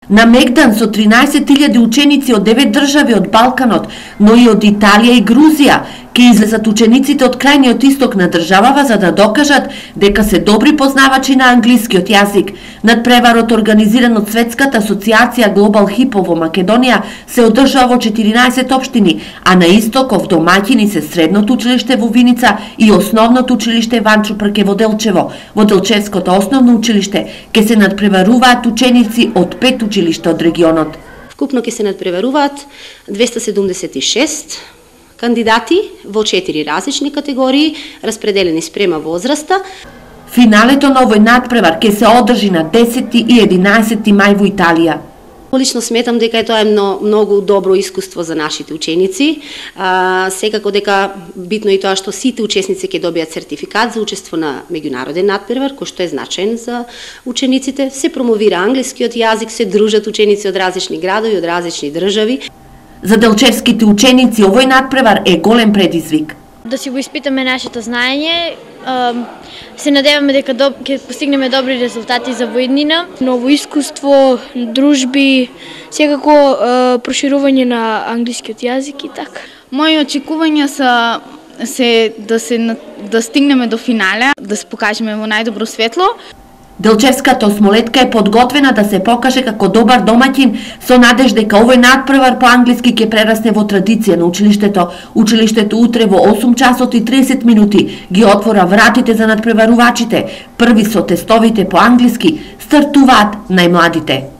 На Мегдан со 13.000 ученици од 9 држави од Балканот, но и од Италија и Грузија, ќе излезат учениците од крајниот исток на државава за да докажат дека се добри познавачи на англискиот јазик. Надпреварот организиран од Светската асоциација Global Hippo во Македонија се одржава во 14 општини, а на истоков домаќини се Средното училиште во Виница и Основното училиште Ванчо Прке во Делчево. Во Делчевското основно училиште ќе се надпреваруваат ученици од 5 училишта од регионот. Вкупно ќе се надпреваруваат 276 кандидати во 4 различни категории, распределени спрема возраста. Финалето на овој надпревар ќе се одржи на 10 и 11 мај во Италија. Лично сметам дека тоа е многу добро искуство за нашите ученици. Секако дека битно и тоа што сите учесници ќе добијат сертификат за учество на меѓународен надпревар, кој што е значаен за учениците. Се промовира англискиот јазик, се дружат ученици од различни градови, од различни држави. За делчевските ученици овој надпревар е голем предизвик. Да си го испитаме нашето знаење, се надеваме дека ќе постигнеме добри резултати за воиднина, ново искуство, дружби, секако проширување на англискиот јазик и така. Мои очекувања се да стигнеме до финале, да се покажеме во најдобро светло. Делчевската осмолетка е подготвена да се покаже како добар домаќин со надеж дека овој надпревар по англиски ќе прерасне во традиција на училиштето. Училиштето утре во 8 часот и 30 минути ги отвора вратите за надпреварувачите. Први со тестовите по англиски стартуваат најмладите.